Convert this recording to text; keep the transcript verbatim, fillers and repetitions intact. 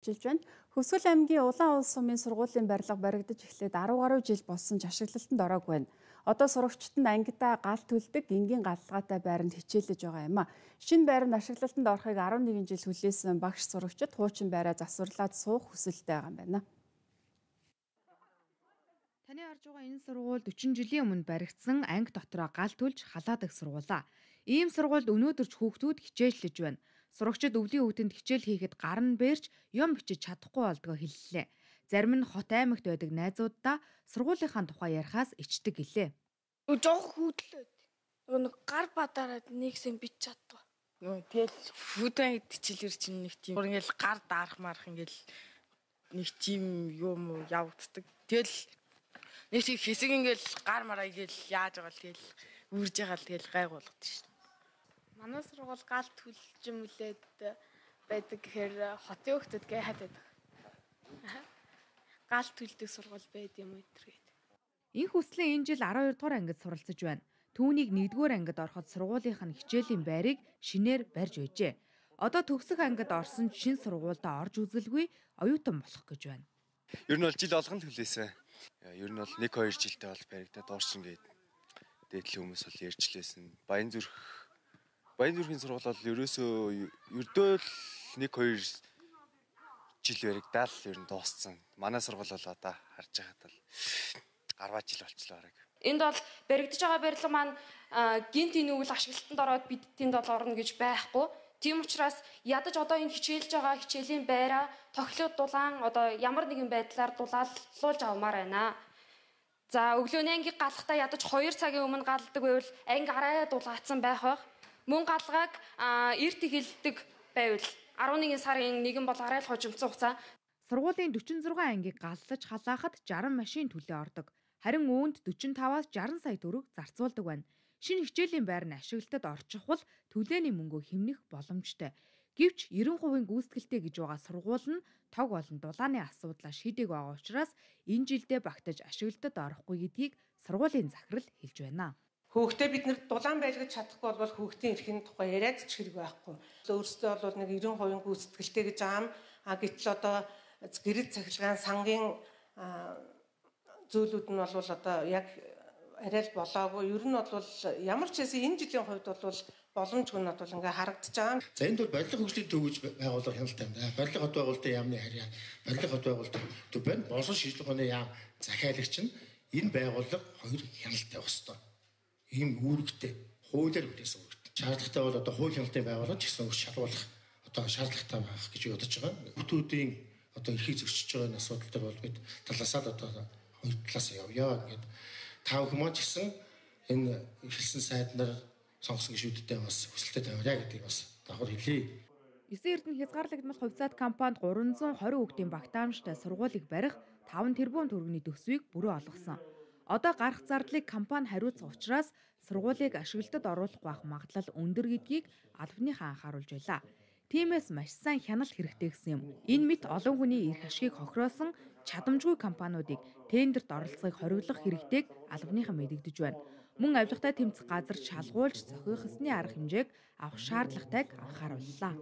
Жилж байна. Хөвсгөл аймгийн Улаан улс сумын сургуулийн барилга баригдаж эхлээд арав гаруй жил болсон ч ашиглалтанд ороогүй байна. Одоо сурагчид нь ангидаа гал төлдөг энгийн галгаатай байранд хичээлж байгаа юм а. Шинэ байр нь ашиглалтанд орохыг арван нэгэн жил хүлээсэн багш сурагчид хуучин байраа засварлаад суух хүсэлтэй байгаа юм байна. Таны харж байгаа энэ сургууль дөрвөн жилийн өмнө баригдсан анги дотроо гал төлж халаадаг сургуулаа. Ийм сургуульд өнөөдөр ч хүүхдүүд хичээллэж байна. Сурагчид өвлийн өвдөнд хичээл хийхэд гар нь бэрж юм бичиж чадахгүй болдгоо хэллээ. Зарим нь хот аймагт байдаг найзуудаа сургуулийнхаа тухай ярихаас ичдэг гэлээ. Жог хүүдлээд нэг гар бадараад нэгсэн бич чаддаг. Тэгэл хүүдэн хичээлэр чинь нэг тийм ингээл гар даарах марах ингээл нэг тийм юм явагддаг. Тэгэл нэг тийм хэсэг ингээл гар мараа ингээл яаж байгаа л тэгэл үрж байгаа л тэгэл гайгуулдаг шин. Манай сургууль гал төлж мүлээд байдаг гэхээр хотын хөлтөд гайхаад байдаг. Гал төлдөг сургууль байд юм уу гэдэг. Инх хүслийн энэ жил арав хоёр дугаар ангид суралцж байна. Түүнийг нэгдүгээр ангид ороход сургуулийнх нь хичээлийн байрыг шинээр барьж байжээ. Одоо төгсөх ангид орсон шинэ сургуультай орж үзэлгүй оюутан болох гэж байна. Ер нь бол жил олгон төлөөсөн. Ер нь бол нэг хоёр жилдээ бол баригдаад орчин гээд дээдлийн хүмүүс бол ярьчлээсэн. Баян зүрх Баян зүрхийн сургууль бол ерөөсөө ердөөл нэг хоёр жил баригдаал ер нь дууссан. Манай сургууль бол одоо харж байхад бол гарваа жил болчихлоо хараг. Энд бол баригдаж байгаа барилга маань гинт энэ үйл ашиглалтанд ороод бид тэнд бол орно гэж байхгүй. Тийм учраас ядаж одоо энэ хичээлж байгаа хичээлийн байраа тохилог дулаан одоо ямар нэгэн байдлаар дулааллуулж авмаар байна. За өглөөний анги галахтаа ядаж хоёр цагийн өмнө галдаг байвал анги арай дулаацсан байх байх. Мөн галгааг эрт эхэлдэг байвал арван нэгэн сарын нэгэн бол арай л хожимцсон хугацаа. Сургуулийн дөрвөн зургаан ангийг галлаж халаахад жарган машин төлөө ордог. Харин үүнд дөрвөн таваас жарган сая төгрөг зарцуулдаг байна. Шинэ хичээлийн байр нь ашиглалтад орчих бол төлөөний мөнгөө хэмнэх боломжтой. Гэвч девять хувийн гүйцэтгэлтэй гэж байгаа сургууль нь тог болон дулааны асуудлаа шийдэг байгаа учраас энэ жилдээ багтаж ашиглалтад орохгүй гэдгийг сургуулийн захирал хэлж байна. Хүүхдээ бид нэр дулаан байлгаж чадахгүй бол хүүхдийн эрхийн тухай яриад ч хэрэг байхгүй. Өөрөөсөө бол нэг девять хувийн гүйцэтгэлтэй гэж аам а гэтэл одоо гэрэл цахилгаан сангийн зүйлүүд нь бол одоо яг арай л болоогүй. Ер нь бол ямар ч хэсэг энэ жилийн хувьд бол боломжгүй нь бол ингээ харагдаж байгаа. За энд бол барилга хөгжлийн төв гэж байгууллага хяналттай юм да. Барилга хот байгуулалтын яамны харьяа, барилга хот байгуулалтын төв байна. Бонсон шийдлэгний яам захиалагч нь энэ байгууллага хоёр хяналттай байх ёстой. Ийм үүрэгтэй хуулиар бүтээсэн үүрэгтэй. Шаардлагатай бол одоо хууль хяналтын байгууллага ч гэсэн өөрчлөлт шалгуулах одоо шаардлагатай байх гэж бодож байгаа. Хүүхдүүдийн одоо эрхийг зөрчиж байгаа асуудал дээр бол бид талаасаа л одоо хоёр талаас явъя ингээд тав хүмүүс ч гэсэн энэ эхэлсэн сайднаар сонгосон гишүүдтэй бас хүсэлтэд тавиа гэдгийг бас давхар хэлье. Эсийн эрдэнэ хязгаарлагдмал хувьцаат компанид гурван зуун двадцать хүүхдийн багтаамжтай сургуулийг барих таван тэрбум төгрөгийн төсвийг бүрэн олгосон. Одоо гарах зардлыг компани хариуцах учраас сургуулийг ашиглалтад оруулах байх магадлал өндөр гэдгийг албаныхаа анхааруулж байлаа. Тиймээс маш сайн хяналт хэрэгтэй гэсэн юм. Энэ мэт олон хүний эрх ашгийг хохироосон чадамжгүй компаниудыг тендерт оролцохыг хориглох хэрэгтэйг албаныхан мэдэгдэж байна. Мөн авилгатай тэмцэх газар шалгуулж зохиох ёсны арга хэмжээг авах шаардлагатайг анхаарууллаа.